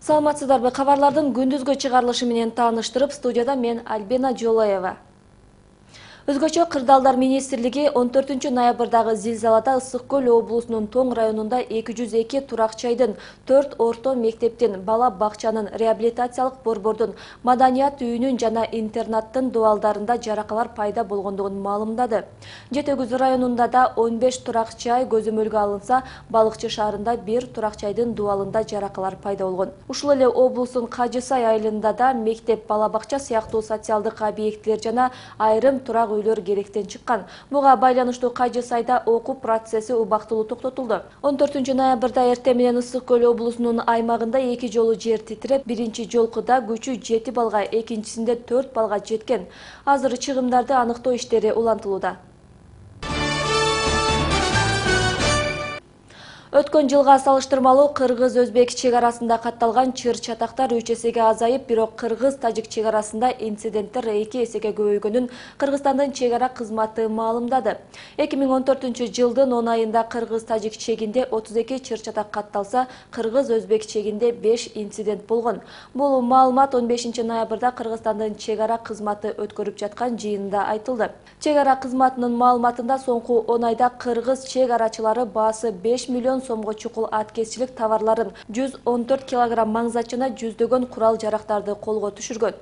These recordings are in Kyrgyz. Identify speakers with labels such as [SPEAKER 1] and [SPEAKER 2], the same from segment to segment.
[SPEAKER 1] Саламатсыздарбы, кабарлардын күндүзгө чыгарылышы менен тааныштырып, студияда мен Альбина Жолаева. Өзгөчө Кырдаалдар министрлиги 14 ноябрдагы зилзалада Ысык Көл облусунун Тоң районунда 202 турак-жайдын, 4 орто мектептин, бала бакчанын, реабилитациялык борбордун, маданият үйүнүн жана интернаттын дубалдарында жаракалар пайда болгондугун маалымдады. Жетегүз районунда да 15 турак-жай көзөмөлгө алынса, Балыкчы шаарында 1 турак-жайдын дубалында жаракалар пайда болгон. Ушул эле облустун Кажы Сай айылында да мектеп, бала бакча сыяктуу социалдык объектилер жана айрым турак үйлөр керектен чыккан. Буга байланыштуу Кажы Сайда окуу процесси убактылуу токтотулду. 14 ноябрда эртең менен Ысык Көл облусунун аймагында 2 жолу жер титиреп, биринчи жолкуда күчү 7 балга, экинчисинде 4 балга жеткен. Азыр чыгымдарды аныктоо иштери улантылууда. Өткөн жылга салыштырмалуу кыргыз-өзбек чек арасында катталган чыр-чатактар 3 эсеге азайып, бирок кыргыз-тажик чек арасында инциденттер 2 эсеге көбөйгөнүн Кыргызстандын чек ара кызматы маалымдады. 2014 жылдын 10 айында кыргыз-тажик чегинде 32 чыр-чатак катталса, кыргыз-өзбек чегинде 5 инцидент болгон. Бул маалымат 15 ноябрда Кыргызстандын чек ара кызматы өткөрүп жаткан жыйынында айтылды. Чек ара кызматынын маалыматында соңку 10 айда кыргыз чек арачылары баасы 5 миллион сомго чукул аткезчилик товарларын, 114 килограмм маңзат жана жүздөгөн курал жарактарды колго түшүргөн.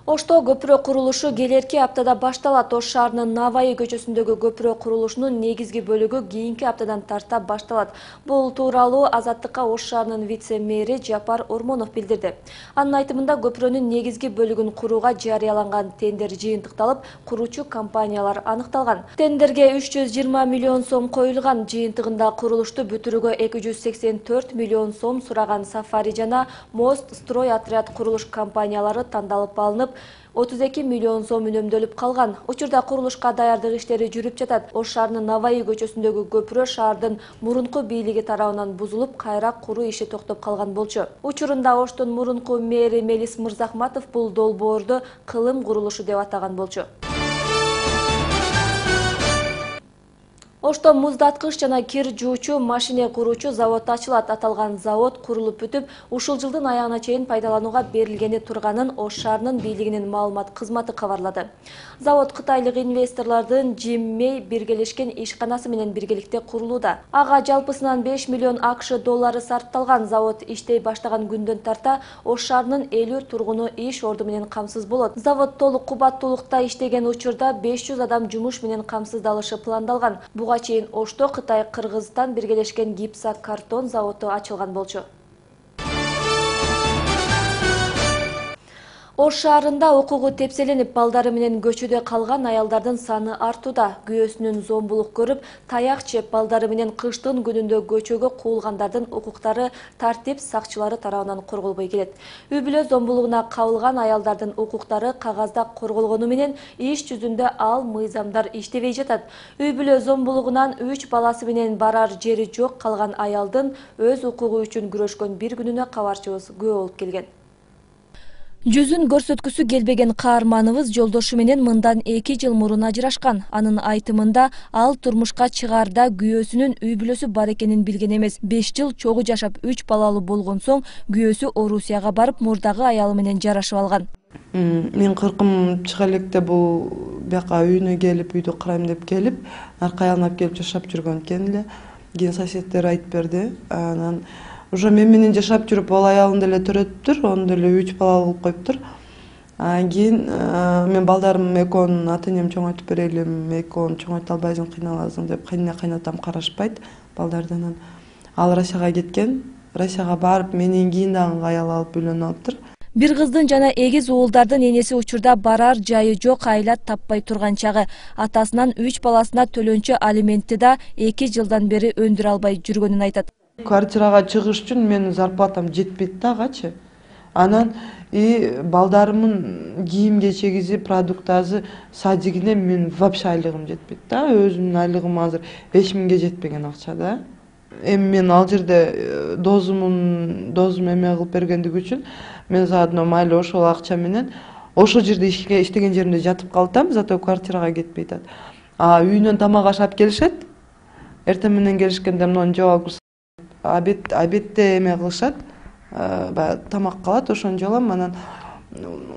[SPEAKER 1] Ошто көпүрө курулушу келерки аптада башталат. Ош шаарынын Наваи көчөсүндөгү көпүрө курулушунун негизги бөлүгү кийинки аптадан тарта башталат. Бул тууралуу Азаттыкка Ош шаарынын вице-мэри Жапар Ормонов билдирди. Анын айтымында көпүрөнүн негизги бөлүгүн курууга жарыяланган тендер жыйынтыкталып, куруучу компаниялар аныкталган. Тендерге 320 миллион сом коюлган. Жыйынтыгында курулушту бүтүрүүгө 284 миллион сом сураган Сафари жана Мост строй отряд курулуш компаниялары тандалып алынып, 32 миллион сом үнөмдөлүп калган. Учурда курулушка даярдык иштери жүрүп жатат. Ош шаарынын Наваи көчөсүндөгү көпүрө шаардын мурунку бийлиги тарабынан бузулуп, кайра куруу иши токтоп калган болчу. Учурунда Оштун мурунку мэри Мелис Мырзахматов бул долбоорду кылым курулушу деп атаган болчу. Ошто муздаткыч жана кир жуучу машине куруучу завод ачылат. Аталган завод курулуп бүтүп, ушул жылдын аягына чейин пайдаланууга берилгени турганын Ош шаарынын бийлигинин маалымат кызматы кабарлады. Завод кытайлык инвесторлордун Жиммей биргелешкен ишканасы менен биргеликте курулууда. Ага жалпысынан 5 миллион АКШ доллары сарпталган. Завод иштей баштаган күндөн тарта Ош шаарынын 50 тургуну иш орду менен камсыз болот. Завод толук кубаттуулукта иштеген учурда 500 адам жумуш менен камсыздалышы пландалган. Буга чейин Ошто Кытай Кыргызстан биргелешкен гипсокартон заводу ачылган болчу. Ош шаарында укугу тепселенип, балдары менен көчөдө калган аялдардын саны артууда. Күйөөсүнүн зомбулук көрүп, таяк жеп, балдары менен кыштын күнүндө көчөгө куулгандардын укуктары тартип сакчылары тарабынан корголбой келет. Үй-бүлө зомбулугуна кабылган аялдардын укуктары кагазда корголгону менен иш жүзүндө ал мыйзамдар иштебей жатат. Үй-бүлө зомбулугунан 3 баласы менен барар жери жок калган аялдын өз укугу үчүн күрөшкөн бир күнүнө кабарчыбыз күбө болуп келген. Жүзүн көрсөткүсү келбеген каарманыбыз жолдошу менен мындан 2 жыл мурун ажырашкан. Анын айтымында ал турмушка чыгаарда күйөөсүнүн үй-бүлөсү бар экенин билген эмес. 5 жыл чогуу жашап 3 балалуу болгон соң күйөөсү Орусияга барып, мурдагы аялы менен жарашып алган.
[SPEAKER 2] Мен кыркым чыга электе бул бияка үйүнө келип, үйдү карайм деп келип, арка аялына келип жашап жүргөн экен эле. Кийин соседтер айтып берди. Анан уже мен менен жашап жүрүп, ал аялын деле төрөтүптүр, onu деле 3 балалуу кылып коюптур. Кийин мен балдарым экөөнүн ата-энем чоңойтуп берелим, экөөнү чоңойто албайсың, кыйналасың деп кайнатам карашпайт балдардан. Ал Россияга кеткен. Россияга барып, менен кийин дагы аял алып үйлөнүп алыптыр.
[SPEAKER 1] Бир кыздын жана 8 уулдардын энеси учурда барар жайы жок, айлат таппай турган чагы. Атасынан 3 баласына төлөнчү алиментти да 2 жылдан бери өндүрө албай жүргөнүн айтат.
[SPEAKER 2] Квартирага чыгыш үчүн менин зарплатам жетпейт да агачы. Анан балдарымын кийим кечегизи, продуктазы, садигине мен вообще айлыгым жетпейт да. Өзүмдүн айлыгым азыр 5000ге жетпеген акча да. Эми мен ал жерде дозум эме кылып бергендиги үчүн мен заодно майлы ошол акча менен ошол жерде иштеген жеримде жатып калтам, зато квартирага кетпей атат. Үйүнөн тамак ашап келишет. Эртең менен келишкенде мынаны жооп алып обедте эме кылышат, баягы тамак калат, ошон жолом анан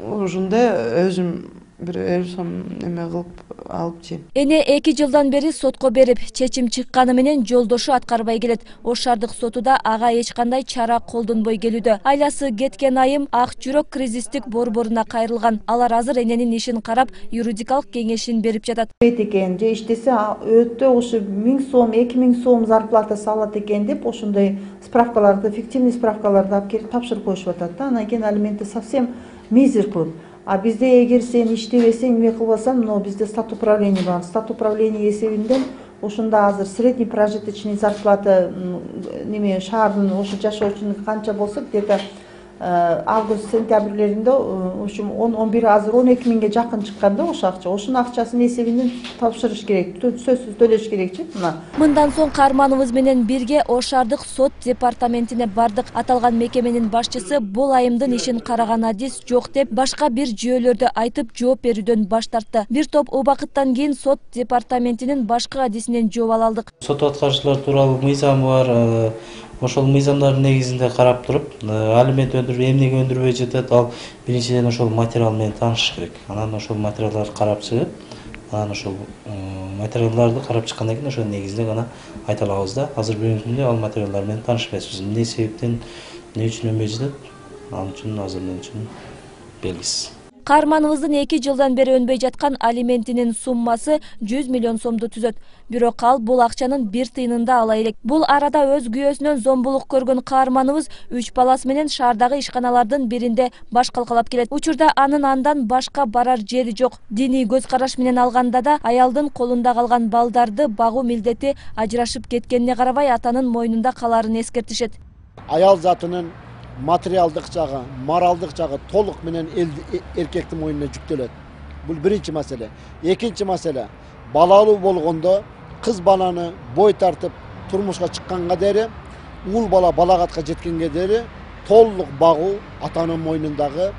[SPEAKER 2] ушундай өзүм бир 50 сом эме кылып алып жейм.
[SPEAKER 1] Эне 2 жылдан бери сотко берип, чечим чыкканы менен жолдошу аткарбай келет. Ош шаардык соту да ага эч кандай чара колдонбой келүүдө. Айласы кеткен айым Ак жүрөк кризистик борборуна кайрылган. Алар азыр эненин ишин карап, юридикалык кеңешин берип жатат.
[SPEAKER 3] Экен же иштесе өтө ушу 1000 сом, 2000 сом зарплатасы алат экен деп ошондой справкаларды, фиктивный справкаларды алып келип тапшырып коюшуп атат да. Анан кийин алименти совсем мизер көп. А бизде эгер сен иштебесең, эме кылбасаң, но бизде стат управление бар. Стат управление эсебинен ошондо азыр средний прожиточный зарплата неме шаардын ошо жашоочунун канча болсо, где-то август сентябрлеринде ошо 11 азыр 12 миңге жакын чыккан да ошо акча. Ошонун акчасын эсебинен тапшырыш керек, сөзсүз төлөш керекчи.
[SPEAKER 1] Мындан соң Кармановубуз менен бирге Ош шаардык сот департаментине бардык. Аталган мекеменин башчысы бул айымдын ишин караган адис жок деп, башка бир жүйөлөрдү айтып жооп берүүдөн баш тартты. Бир топ убакыттан кийин сот департаментинин башкы адисинен жооп ала алдык.
[SPEAKER 4] Сот аткарышлар тууралуу мыйзам бар. Ошол мыйзамдардын негизинде карап туруп, алимент эмнеге өндүрбөй жатат, ал биринчиден ошол материал менен таанышыш керек. Анан ошол материалдарды карап чыгып, анан ошол материалдарды карап чыккандан кийин ошонун негизинде гана айта алабыз да. Азыр бүгүнкү күндө ал материалдар менен таанышпайбыз. Эмне себептен, эмне үчүн өнбөй жатат, ал үчүн азыр мен үчүн белгисиз.
[SPEAKER 1] Кармановубуздун 2 жылдан бери өнбөй жаткан алиментинин суммасы 100 миллион сомду түзөт. Бирок ал бул акчанын бир тыйынын да ала элек. Бул арада өз күйөөсүнөн зомбулук көргөн Кармановубуз 3 баласы менен шаардагы ишканалардын биринде баш калкалап келет. Учурда анын андан башка барар жери жок. Диний көз караш менен алганда да аялдын колунда калган балдарды багуу милдети ажырашып кеткенине карабай атанын мойнунда каларын эскертишет.
[SPEAKER 5] Аял затынын материалдык жагы, моралдык жагы толук менен эркектин мойнуна жүктөлөт. Бул биринчи маселе. Экинчи маселе, балалуу болгондо кыз баланы бой тартып турмушка чыкканга дери, ул бала балагатка жеткенге дери толук багуу атанын мойнундагы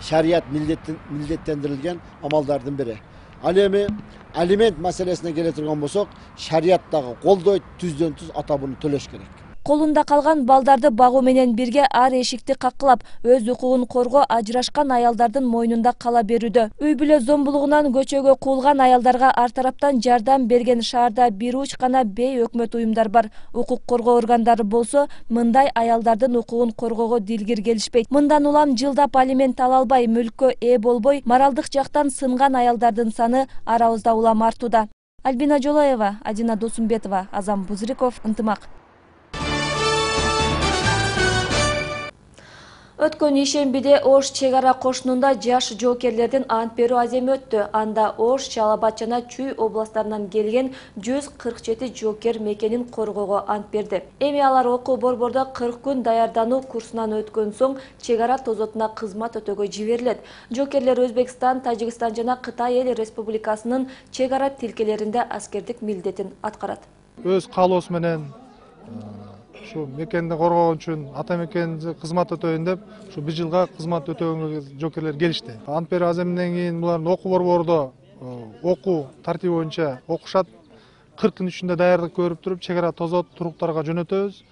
[SPEAKER 5] шарият милдеттендирилген амалдардын бири. Ал эми алимент маселесине келе турган болсок, шарияттагы колдойт, түздөн түз ата буну төлөш керек.
[SPEAKER 1] Колунда калган балдарды багуу менен бирге ар эшикти каккылап, өз укугун коргоо ажырашкан аялдардын мойнунда кала берүүдө. Үй бүлө зомбулугунан көчөгө куулган аялдарга ар тараптан жардам берген шаарда бир уч гана бейөкмөт уюмдар бар. Укук коргоо органдары болсо, мындай аялдардын укугун коргоого дилгир келишпейт. Мындан улам жылдап алимент ала албай, мүлккө ээ болбой, моралдык жактан сынган аялдардын саны арабызда улам артууда. Альбина Жолаева, Адина Досумбетова, Азам Бузриков, Ынтымак. Өткөн ишембиде Ош чек ара кошунунда жаш жоокерлердин ант берүү аземи өттү. Анда Ош, Чал Абад жана Чүй областтарынан келген 147 жоокер мекенин коргоого ант берди. Эми алар окуу борбордо 40 күн даярдануу курсунан өткөн соң чек ара тозотуна кызмат өтөөгө жиберилет. Жоокерлер Өзбекстан, Тажикстан жана Кытай эл республикасынын чек ара тилкелеринде аскердик милдетин аткарат.
[SPEAKER 6] Өз каалоосу менен ушу мекенди коргогон үчүн ата мекенди кызмат өтөйүн деп ушу 1 жылга кызмат өтөөгө жоокерлер келишти. Ант берүү аземинен кийин булардын окуу борбордо окуу тартиби боюнча окушат. 40 күн ичинде даярдык көрүп туруп, чек ара тозот туруктарга жөнөтөбүз.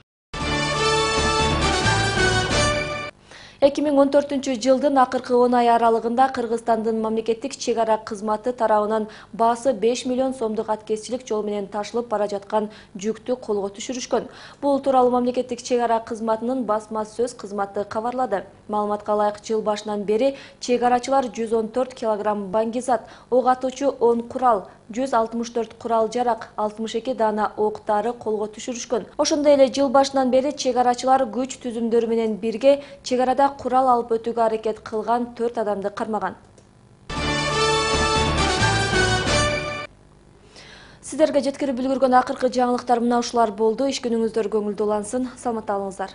[SPEAKER 1] 2014 жылдын акыркы 10 ай аралыгында Кыргызстандын мамлекеттик чек ара кызматы тарабынан баасы 5 миллион сомдук аткезчилик жол менен ташылып бара жаткан жүктү колго түшүрүшкөн. Бул тууралуу мамлекеттик чек ара кызматынын басма сөз кызматы кабарлады. Маалыматка ылайык, жыл башынан бери чек арачылар 114 килограмм баңгизат, ок атуучу 10 курал, 164 курал жарак, 62 дана октары колго түшүрүшкөн. Ошондой эле жыл башынан бери чек арачылар күч түзүмдөрү менен бирге чек арада курал алып өтүүгө аракет кылган 4 адамды кармаган. Сиздерге жеткирип үлгүргөн акыркы жаңылыктар мына ушулар болду. Иш күнүңүздөр көңүлдүү улансын. Саламатта болуңуздар.